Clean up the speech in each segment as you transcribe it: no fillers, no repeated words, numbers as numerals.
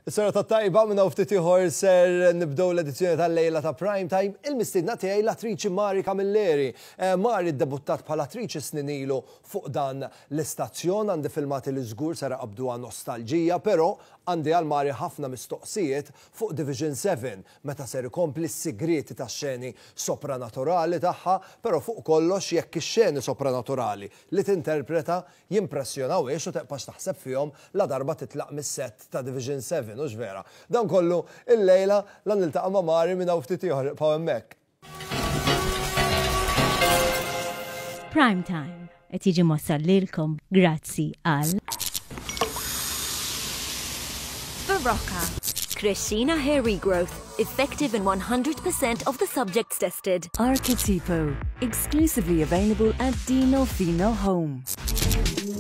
Is-serata t-tajba minn hawn ftit ieħor ser nibdew l-edizzjoni tal-lejla ta' Prime Time. Il-mistiedna tiegħi l-attriċi Mari Camilleri. Eh, Mari ddebuttat bħala attriċi snin ilu fuq dan l-istazzjon, għandi filmati li żgur ser iqabbduha nostalġija, però għandi għal Mari ħafna mistoqsijiet fuq Division 7, meta ser ikompli s-sigrieti tax-xeni sopranaturali tagħha, però fuq kollox jekk ix-xeni sopranaturali li tinterpreta jimpressjonawhiex u teqpax taħseb fihom ladarba titlaq mis-sett ta' Division 7, hux vera? Dan kollu illejla la niltaqa' ma' Mari minn hawn ftit ieħor, ibqgħu hemmhekk. Prime Time qed jiġi mwassal lilkom grazzi għal. Berocca. Crescina Hair Regrowth, effective in 100% of the subjects tested. Archetipo, exclusively available at Dino Fino Home.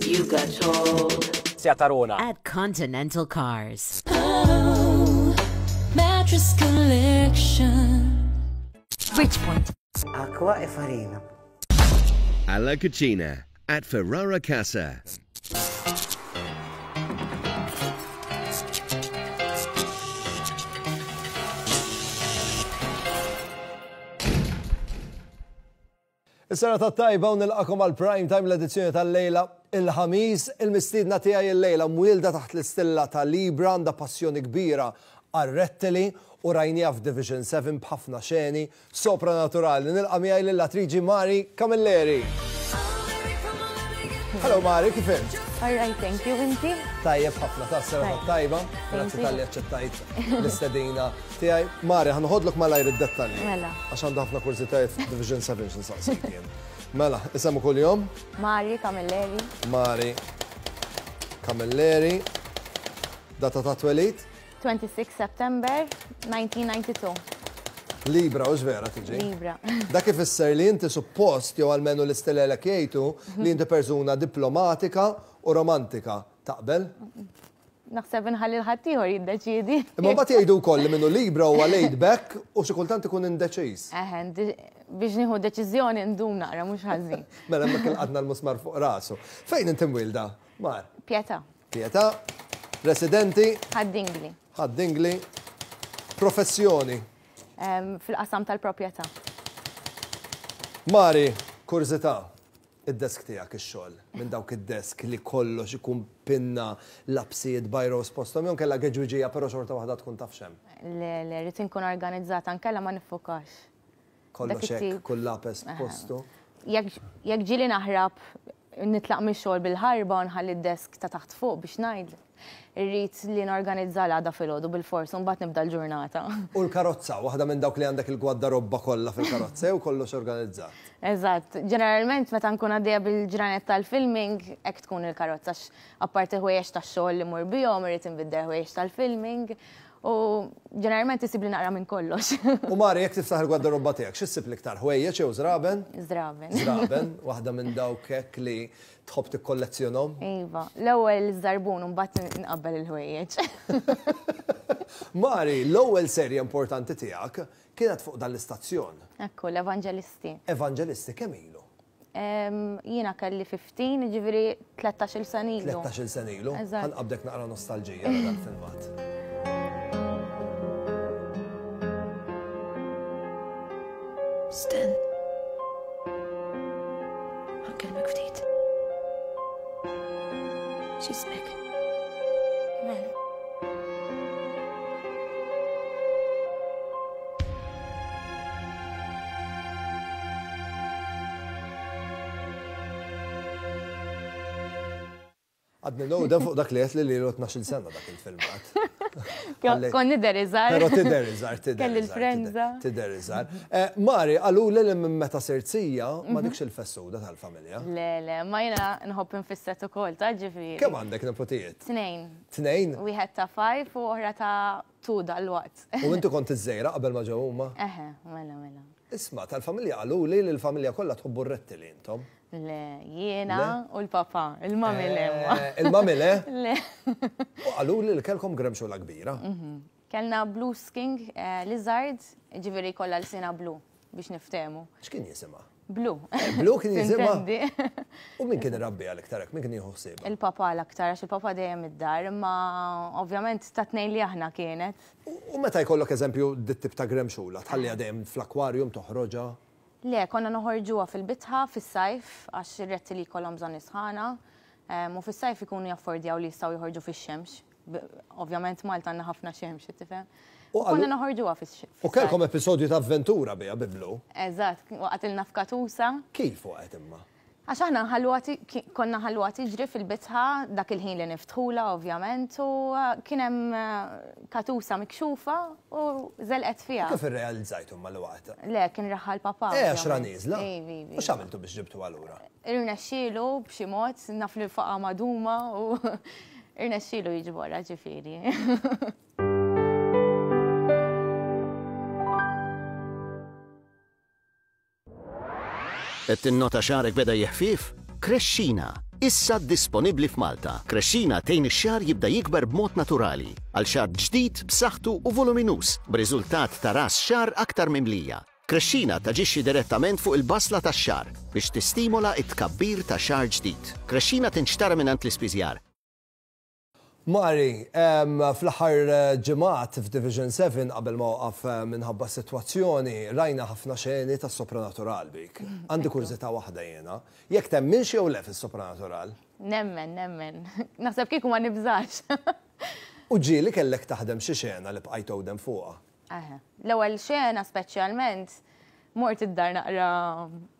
You got told. Tarona. At Continental Cars. Oh, mattress collection. Bridgepoint. Acqua e farina. Alla Cucina at Ferrara Casa. Is-serata t-tajba u nilqakom għal Prime Time l-edizzjoni tal-lejla il-ħamis. Il-mistiedna tiegħi illejla mwielda taħt l-istilla ta' Libra għandha passjoni kbira għar-rettili u rajniha f'Division 7 b'ħafna xeni sopranaturali. Nilqa' miegħi lill-attriċi Mari Camilleri. Hello Mari, kif int? All right, thank you, inti? Tajjeb ħafna ta' serata tajba. Grazzi talli aċċettajt l-istedina tiegħi. Mari, ħa noħodlok malajr id-dettalji. Mela. Għax għandu ħafna kurżitajiet fuq Division 7 x'nsaqsik jien. Mela, isem u kuljum? Mari Camilleri. Mari Camilleri. Data ta' twelid? 26 September 1992. Libra, hux vera tiġi? Libra. Dak ifisser li inti suppost, jew almenu l-istilelek jgħidu, li inti persuna diplomatika u romantika. Taqbel? Naħseb inħalli l-ħaddieħor jiddeċiedi. Imma mbagħad jgħidu wkoll li minnu Libra huwa laid back u xi kultant ikun indeċiż. Eħe, biex nieħu deċiżjoni ndum naqra mhux ħażin. Mela hemmhekk ilqadna l-musmar fuq rasu. Fejn inti mwielda, Mar? Pietà. Pietà. Residenti? Ħad-Dingli. Ħad-Dingli. Professjoni? Fil-qasam tal-proprjetà. Mari, kurżità, id-desk tiegħek ix-xogħol, minn dawk id-desk li kollox ikun pinna, lapsijiet, bajros posthom jew inkella geġwiġija però xorta waħda tkun taf x'hemm? Le, le, rrid inkun organizzata nkella ma niffukax. Kollox hekk, kull lapes f'postu. Jekk ġieli naħrab nitlaq mix-xogħol bil-ħarba u nħalli d-desk ta' taħt fuq biex ngħid, irrid li norganizza l-għada filgħodu bilfors u mbagħad nibda l-ġurnata. U l-karozza, waħda minn dawk li għandek il-gwaddarobba kollha fil-karozza jew kollox organizzat? Eżatt. Ġeneralment meta nkun għaddejja bil-ġranet tal-filming hekk tkun il-karozza għax apparti ħwejjeġ tax-xogħol li mmur bihom irrid inbiddel ħwejjeġ tal-filming U ġeneralment isibli naqra minn kollox. U Mari, jekk tiftaħ il-gwardarobba tiegħek, xi ssib l-iktar, ħwejjeġ jew żraben? Żraben. Żraben, waħda minn dawk hekk li tħobb tikkollezzjonhom? Iva, l-ewwel iż-żarbun u mbagħad nqabbel il-ħwejjeġ. Mari, l-ewwel serje importanti tiegħek kienet fuq dan l-istazzjon. Ekku, l-Evanġelisti. Evanġelisti, kemm ilu? Jiena kelli 15, jiġifieri 13-il sena ilu. 13-il sena ilu? Eżatt. Ħa nqabbdek naqra nostalġija għal dal-filmat. Sten. Ħa nkellmek ftit. X'ismek? Mel. Għadni nowden fuq dak li għedt li lilu 12 sena dak il-filmat. Kont nidher iżgħar. Però tidher iżgħar, tidher. Kelli l-frenza. Tidher iżgħar. Eh, Mari, qaluli li minn meta sirt sija ma dikx il-fessuda tal-familja. Le, le, ma jiena nħobb infisset ukoll, ta' ġifieri. Kemm għandek nepotijiet? Tnejn. Tnejn? Wieħed ta' five u oħra ta' two dalwaqt. U inti kont iż-żgħira qabel ma ġew huma? Eħe, mela, mela. Isma', tal-familja qaluli li l-familja kollha tħobbu r-rettili intom. Le, jiena u l-papà, il-mami le imma. Eh, il-mami le? Le. U qaluli li kellkom gremxula kbira. Mhm. Kellna blue king eh, lizard, ġifieri kollha lsina blu biex niftehmu. X'kien jisimha? Blu. Blu kien jisimha? U min kien irabbiha l-iktar hekk? Min kien jieħu ħsiebha? Il-papa l-aktar, għax il-papa dejjem id-dar, imma ovvjament ta' tnejn li aħna kienet. U meta jkollok eżempju dit-tip ta' gremxula, tħalliha dejjem fl-akwarjum toħroġha? Le, konna noħorġuha fil-bitħa fis-sajf għax ir-rettili jkollhom bżonn is-sħana, u fis-sajf ikunu jaffordjaw li jistgħu joħorġu fix-xemx. Ovvjament Malta għandna ħafna xemx, tifhem. U konna noħorġuha fis U kellkom episodju ta' avventura biha bi Blu. Eżatt, waqgħetilna f'katusa. Kif waqgħet imma? Għax aħna nħalluha konna nħalluha tiġri fil-bitħa dak il-ħin li niftħulha ovvjament u kien hemm katusa mikxufa u żelqet fiha. Kif irrealizzajtu imma li waqgħet? Le, kien raha l-papà. Eh, għax ra nieżla? U x'għamiltu biex ġibtuha lura? Irnexxielu b'xi mod, naf li faqa' maduma u irnexxielu jiġborha ġifieri. Qed tinnota xagħrek beda jeħfief? Krexxina, issa disponibbli f'Malta. Krexxina tgħin ix-xagħar jibda jikber b'mod naturali, għal xagħar ġdid, b'saħħtu u voluminuż, b'riżultat ta' ras xagħar aktar mimlija. Krexxina taġixxi direttament fuq il-basla tax-xagħar biex tistimola t-tkabbir ta' xagħar ġdid. Krexxina tinxtara mingħand l-ispiżjar. Mari, fl-aħħar ġimgħat f'Division 7 qabel ma waqaf minħabba s-sitwazzjoni, rajna ħafna xeni tas-sopranatural bik. Għandi kurżità waħda jiena. Jekk temminx jew le fis-sopranatural? Nemmen, nemmen. Naħseb kieku ma nibżax. U ġieli kellek taħdem xi xena li bqajt tgħodem fuqha? Eħe. L-ewwel xena speċjalment mort id-dar naqra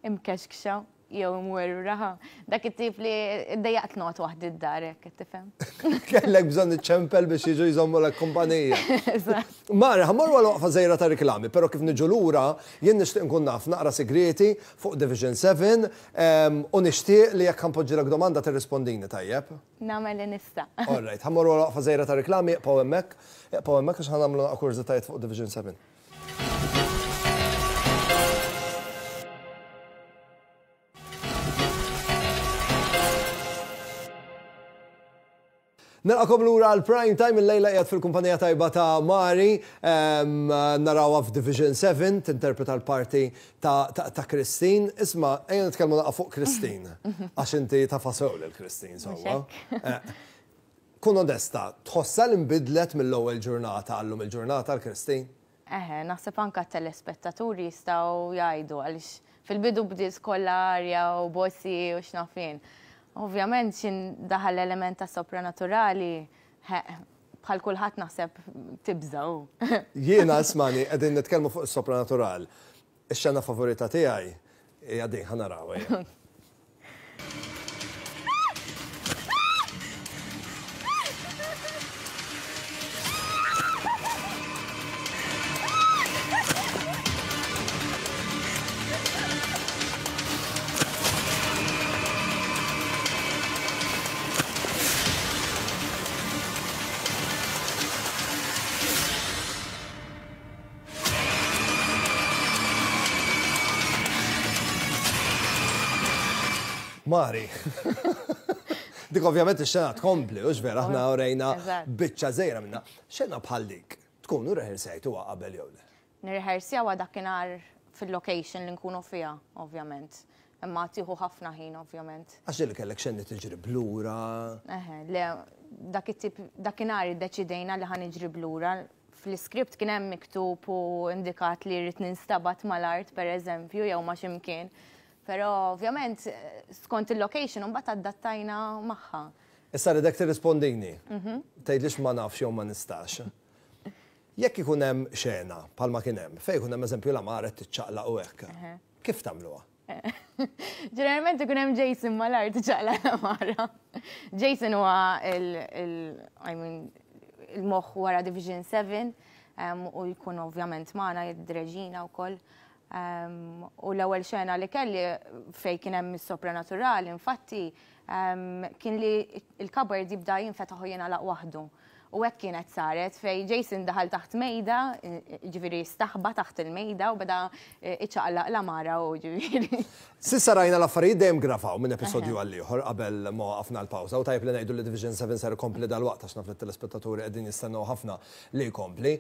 imkexkxa jew imwerwra. Dak it-tip li ddejjaqt noqgħod waħdi d-dar hekk qed tifhem. Kellek bżonn iċċempel biex jiġu jżommulek kumpanija. Eżatt. Mara, ħa mmorru għal waqfa żgħira ta' riklami, però kif niġu lura jien nixtieq nkun naf naqra sigrieti fuq Division 7 u nixtieq li jekk ħa npoġġilek domanda tirrispondini tajjeb. Nagħmel li nista'. All right, ħa mmorru għal waqfa żgħira ta' riklami, ibqgħu hemmhekk. Ibqgħu hemmhekk għax ħa nagħmlu naqra kurżitajiet fuq Division 7. Nilqakom lura għal Prime Time illejla qiegħed fil-kumpanija tajba ta' Mari, narawha f'Division 7 tinterpreta l-parti ta' ta' Christine. Isma' ejja nitkellmu naqra fuq Christine. Għax inti tafha sew lil Christine sewwa. Kun onesta, tħossha li nbidlet mill-ewwel ġurnata għal-lum il-ġurnata l-Christine? Eħe, naħseb anke t-telespettaturi jistgħu jgħidu għaliex fil-bidu bdiet kollha arja u bossi u x'naf jien. Ovvjament x'in daħal l-element ta' sopranaturali, bħal kulħadd naħseb tibża' hu. Jiena ismagħni, qegħdin nitkellmu fuq is-sopranatural. Ix-xena favorita tiegħi hija din, ħa naraw ejja. Mari. Dik ovvjament ix-xena tkompli, hux vera, aħna urejna biċċa żgħira minnha. Xena bħal dik, tkunu rreħersejtuha qabel jew le? Nirreħersjawha dakinhar fil-location li nkunu fiha, ovvjament. Imma tieħu ħafna ħin, ovvjament. Għax ġieli kellek xeni tiġri b'lura. Eħe, le, dak it-tip, dakinhar iddeċidejna li ħa niġri b'lura. Fl-iskript kien hemm miktub u indikat li rrid ninstabat mal-art, per eżempju, jew ma' xi mkien. Però ovvjament skont il-location imbagħad adattajna magħha. Issa rridek tirrispondini. Tgħidlix ma nafx jew ma nistax. Jekk ikun hemm xena bħalma kien hemm, fejn ikun hemm eżempju l-għamara qed tiċċaqlaq u hekk, kif tagħmluha? Ġeneralment ikun hemm Jason mal-art iċaqlaq l-għamara. Jason huwa il I mean, il-moħħ wara Division 7 u jkun ovvjament magħna jidreġina wkoll. U l-ewwel xena li kelli fejn kien hemm is-sopranaturali, infatti, kien li l-cupboard jibda jinfetaħ u jingħalaq waħdu. U hekk kienet saret fejn Jason daħal taħt mejda, ġifieri staħba taħt il-mejda u beda iċaqlaq l-għamara hu ġifieri. S'issa rajna l-affarijiet dejjem gravaw minn episodju għal ieħor qabel ma waqafna l-pawża u tajjeb li ngħidu li Division 7 ser ikompli dalwaqt għax naf li t-telespettaturi qegħdin jistennew ħafna li jkompli.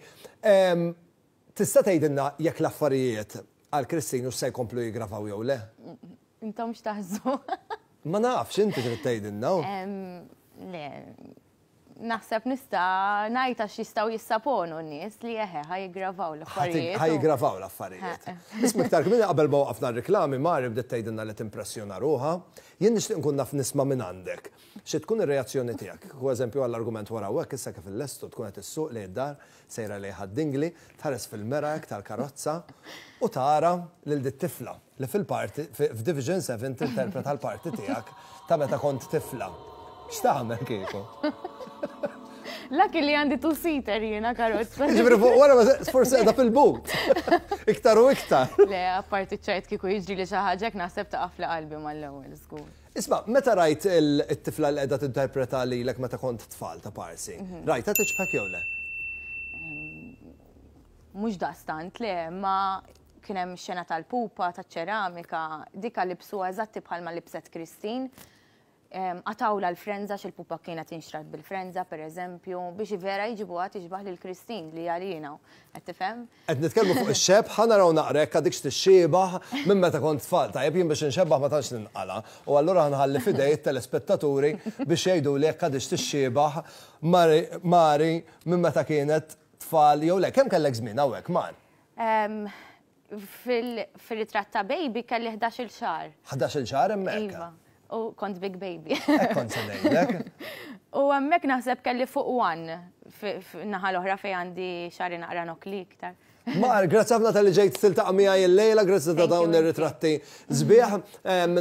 Tista' tgħidilna jekk l-affarijiet. Għal Christine hux se jkomplu jiggravaw jew le? Intom x'taħsbu? Ma nafx, inti trid tgħidilna. Le, naħseb nista' ngħid għax jistgħu jissaponu n-nies li eħe ħa jiggravaw l-affarijiet. Ħa jiggravaw l-affarijiet. Isma' iktar kmieni qabel ma waqafna r-riklami, Mari bdiet tgħidilna li timpressjona ruħha. Jien nixtieq nkun naf nisma' minn għandek. Xi tkun ir-reazzjoni tiegħek? Kieku eżempju għall-argument wara u hekk issa kif illestu tkun qed issuq lejn id-dar, sejra lejn Ħad-Dingli, tħares fil-mera hekk tal-karozza u tara lil dit-tifla. Li fil-parti, f'Division 7 tinterpreta l-parti tiegħek ta' meta kont tifla. X'tagħmel kieku? Lucky li għandi two-seater jiena karozza. Ġifieri fuq wara forsi qiegħda fil-but. Iktar u iktar. Le, apparti ċajt kieku jiġri li xi ħaġa naħseb taqaf li qalbi mal-ewwel żgur. Isma', meta rajt it-tifla li qiegħda tinterpreta lilek meta kont tfal ta' parsi, mhm. rajtha tiġbħek jew le? Mhux daqstant le, ma Kien hemm ix-xena tal-pupa, taċ-ċeramika, dika libsuha eżatti bħalma libset Christine. Qatgħulha l-frenża għax il-pupa kienet inxtrat bil-frenża, pereżempju, biex vera jġibuha tixbah lil Christine li għalina. Qed tifhem? Qed nitkellmu fuq ix-xebh, ħa naraw naqra jekk għadikx tixxiebah minn meta kont tfal. Tajjeb, jien biex inxebbah ma tantx ninqala' u allura ħa nħalli f'idej it-telespettaturi biex jgħiduli jekk għadhiex tixxiebah Mari minn meta kienet tfal jew le. Kemm kellek żmien hawnhekk, Mar? Fil-ritratt ta' baby kelli 11-il xahar. 11-il xahar hemmhekk? Iva. U kont big baby. Hekk kont se ngħidlek. U hemmhekk naħseb kelli fuq one naħa l-oħra fejn għandi xagħri naqra nokli iktar. Mar, grazzi ħafna talli ġejt tiltaqa' miegħi illejla, grazzi ta' dawn ir-ritratti sbieħ.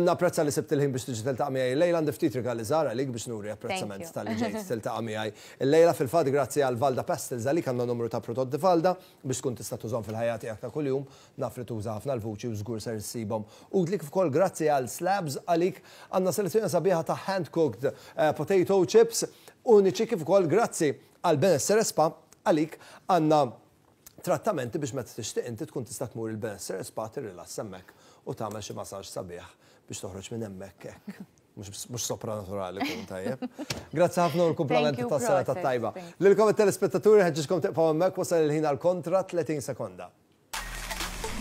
Napprezza li sibt il-ħin biex tiġi tiltaqa' miegħi illejla, għandi ftit rigali żgħar għalik biex nuri apprezzament talli ġejt tiltaqa' miegħi illejla. Fil-fatt grazzi għal Valda Pastels għalik għandna numru ta' prodotti Valda. Biex tkun tista' tużahom fil-ħajja tiegħek ta' kuljum, naf li tuża ħafna l-vuċi u żgur ser issibhom utli kif ukoll grazzi għal Slabs għalik għandna selezzjoni sabiħa ta' hand cooked potato chips uniċi kif ukoll grazzi għal Benessere Spa għalik għandna trattamenti biex meta tixtieq inti tkun tista' tmur il-Benessere Spa tirrilassa hemmhekk u tagħmel xi massage sabiħ biex toħroġ minn hemmhekk hekk. Mhux sopranaturali kun tajjeb. Grazzi ħafna u l-kumplament tas-serata tajba. Lilkom it-telespettaturi ħeġġiġkom tibqgħu hemmhekk wasal il-ħin għal kontra 30 sekonda.